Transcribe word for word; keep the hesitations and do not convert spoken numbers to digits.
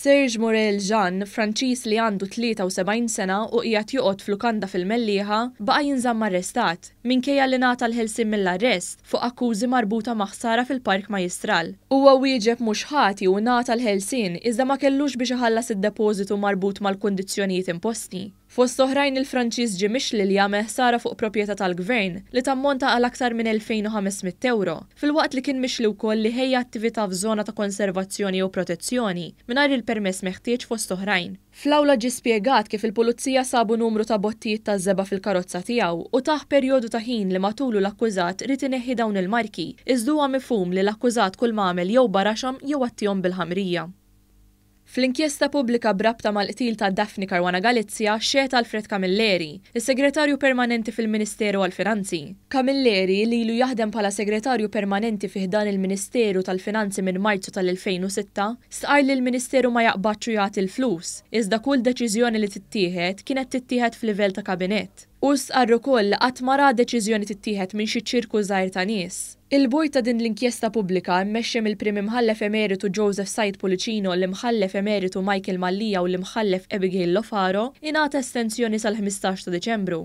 Serge Morel Jean, Franċiż li għandu tlieta u sebgħin sena u qiegħed joqgħod f'lukanda fil-Mellieħa, baqa' jinżamm arrestat, minkejja li ngħata l-ħelsien mill-arrest fuq akkużi marbuta ma' ħsara fil-Park Majjistral. Huwa wieġeb mhux ħati u ngħata l-ħelsien iżda ma kellux biex iħallas id-depożitu marbut mal-kundizzjonijiet imposti. Fost oħrajn il-Franċiż ġie mixli li għamel ħsara fuq proprjetà tal-gvern li tammonta għal aktar minn elfejn u ħames mitt euro, filwaqt li kien mixli wkoll li ħejja attività f'żona ta' konservazzjoni jew protezzjoni mingħajr il-permess meħtieġ fost oħrajn. Fl-awla ġie spjegat kif il-pulizija sabu numru ta' bottijiet ta' żebgħa fil-karozza tiegħu u tah perjodu ta' ħin li matulu l-akkużat ried ineħħi dawn il-marki, iżda huwa mifhum li l-akkużat kull ma għamel jew baraxhom jew għattihom bil-ħamrija. Fl-inkjesta pubblika b'rabta mal-qtil ta' Daphne Caruana Galizia xehed Alfred Camilleri, is-segretarju permanenti fil-Ministeru għall-Finanzi. Camilleri, li ilu jaħdem bħala segretarju permanenti fi ħdan il-Ministeru tal-Finanzi minn Marzu tal-elfejn u sitta, stqarr li l-Ministeru ma jaqbadx u jagħti l-flus, iżda kull deċiżjoni li tittieħed kienet tittieħed f'livell ta' kabinett. U stqarr ukoll li qatt ma ra deċiżjoni tittieħed minn xi ċirku żgħir ta' nies. Il-bord ta' din l-inkjesta pubblika mmexxi mill-Prim Imħallef Emeritu Joseph Said Pullicino, l-Imħallef Emeritu Michael Mallia u l-Imħallef Abigail Lofaro ingħata estensjoni sal-ħmistax ta' Diċembru.